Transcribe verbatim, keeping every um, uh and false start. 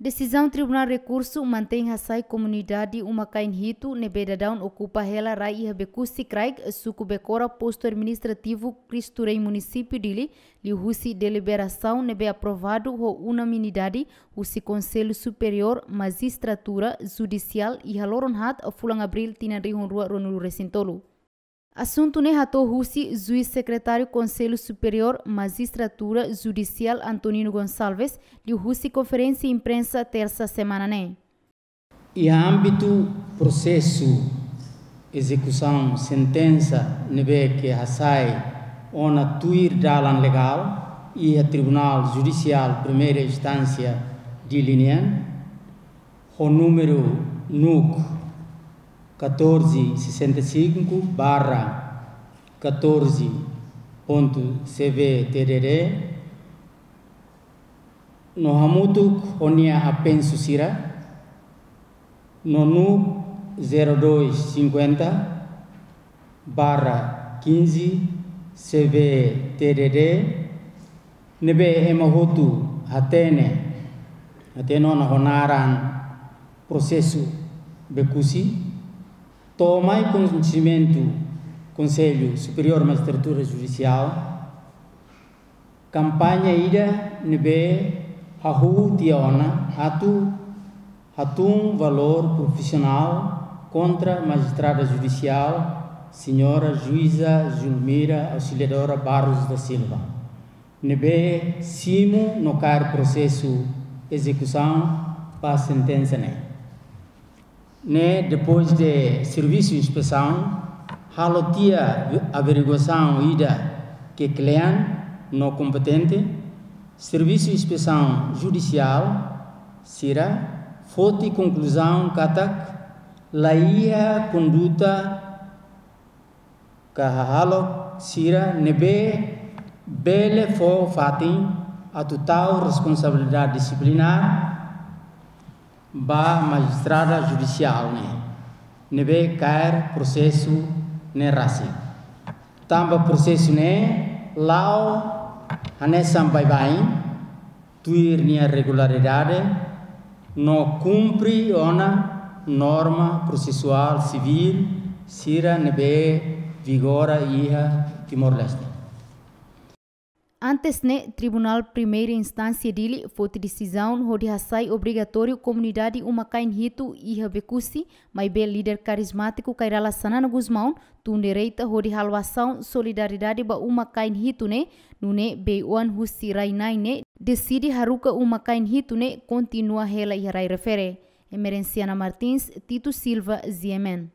Desizaun Tribunál Rekursu mantein hasai komunidade uma-kain hitu ne'ebé daudaun okupa hela rai iha Bekusi Kraik, suku Bekora, postu administrativu Cristo Rei, munisípiu Dili, liuhusi deliberasaun ne'ebé aprovadu ho unanimidade husi Konsellu Superiór Majistratura Judisiál iha loron haat, fulan Abríl, tinan rihun rua ruanulu resin tolu. Asuntu ne'e hato'o husi Juís Sekretáriu Konsellu Superiór Majistratura Judisiál Antonino Gonçalves, liuhusi konferénsia imprensa tersa semana ne'e. Iha ámbitu prosesu ezekusaun sentensa ne'ebé ke hasai ona tuir dalan legál iha Tribunál Judisiál Primeira Instánsia Dili nian, ho númeru NUC catorze sessenta e cinco barra catorze ponto C V T D D, no hamutuk ho nia apensu sira, no NUC zero dois cinquenta barra quinze C V T D D, ne'ebé ema hotu hatene, hatene ona ho naran prosesu Bekusi, to'o mai koñesimentu Konsellu Superiór Majistratura Judisiál, kampaña ida ne'ebé hahú tiha ona atu hatún valór profisionál kontra Majistrada Judisiál, Señora Juíza Julmira Auxiliadora Barros da Silva, ne'ebé simu no kaer prosesu ezekusaun ba sentensa ne'e. Ne'e, depois de servisu inspesaun, halo tiha averiguasaun ida ke kle'an no kompetente, servisu inspesaun judisiál sira foti konkluzaun katak laiha konduta ka hahalok sira ne'ebé bele fó fatin atu tau responsabilidade disiplinár ba majistrada judisiál ne'e, ne'ebé kaer prosesu ne'e rasik. Tanba prosesu ne'e la'o hanesan baibain, tuir nia regularidade, no kumpre ona norma prosesuál sivíl sira ne'ebé vigora iha Timor-Leste. Antes ne'e, Tribunál Primeira Instánsia Dili foti desizaun hodi hasai obrigatóriu komunidade uma-kain hitu iha Bekusi, maibé líder karizmátiku Kay Rala Xanana Gusmão tun direita hodi halo asaun solidariedade ba uma-kain hitu ne'e, nune'e bei-oan husi rai-na'in ne'e deside haruka uma-kain hitu ne'e kontinua hela iha rai refere. Emerenciana Martins, Tito Silva, G M N.